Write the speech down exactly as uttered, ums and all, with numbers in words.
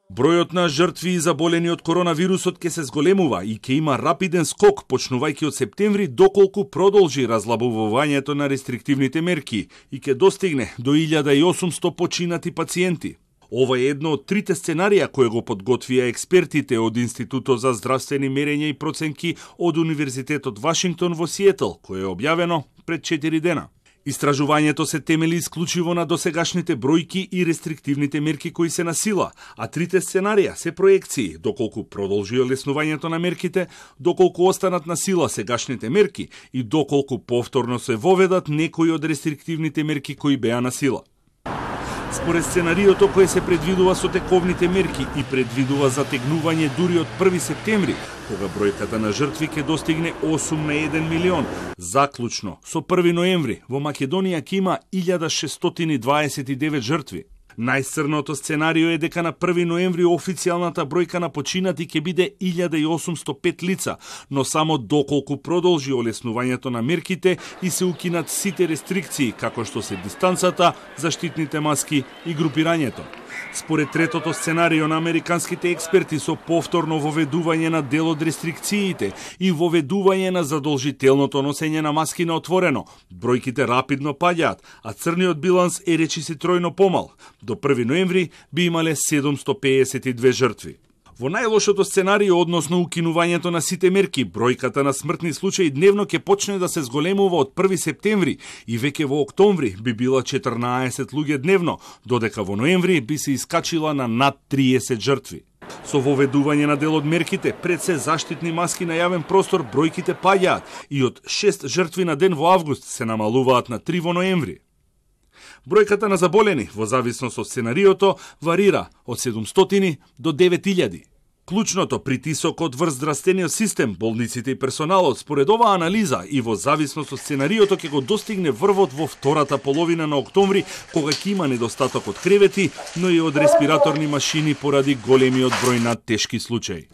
Бројот на жртви и заболени од коронавирусот ќе се зголемува и ќе има рапиден скок почнувајќи од септември доколку продолжи разлабувувањето на рестриктивните мерки и ќе достигне до илјада и осумсто починати пациенти. Ова е едно од трите сценарија кои го подготвија експертите од Институтот за здравствени мерења и проценки од Универзитетот Вашингтон во Сиетл, кое е објавено пред четири дена. Истражувањето се темели исклучиво на досегашните бројки и рестриктивните мерки кои се на сила, а трите сценарија се проекции, доколку продолжи олеснувањето на мерките, доколку останат на сила сегашните мерки и доколку повторно се воведат некои од рестриктивните мерки кои беа на сила. Според сценариото кое се предвидува со тековните мерки и предвидува затегнување дури од први септември, кога бројката на жртви ќе достигне осум на еден милион. Заклучно, со први ноември, во Македонија ќе има илјада шестстотини и дваесет и девет жртви. Најцрното сценарио е дека на први ноември официјалната бројка на починати ќе биде илјада и осумсто пет лица, но само доколку продолжи олеснувањето на мерките и се укинат сите рестрикции, како што се дистанцата, заштитните маски и групирањето. Според третото сценарио на американските експерти со повторно воведување на дел од рестрикциите и воведување на задолжителното носење на маски на отворено, бројките рапидно паѓаат, а црниот биланс е речиси тројно помал. До први ноември би имале седумсто пеесет и две жртви. Во најлошото сценарио, односно укинувањето на сите мерки, бројката на смртни случаи дневно ќе почне да се зголемува од први септември и веќе во октомври би била четрнаесет луѓе дневно, додека во ноември би се искачила на над триесет жртви. Со воведување на дел од мерките, пред се заштитни маски на јавен простор, бројките паѓаат и од шест жртви на ден во август се намалуваат на три во ноември. Бројката на заболени, во зависност од сценариото, варира од седумстотини до девет илјади. Клучното, притисокот врз здравствениот систем, болниците и персоналот, според оваа анализа и во зависност од сценариото ќе го достигне врвот во втората половина на октомври, кога ќе има недостаток од кревети, но и од респираторни машини поради големиот број на тешки случаи.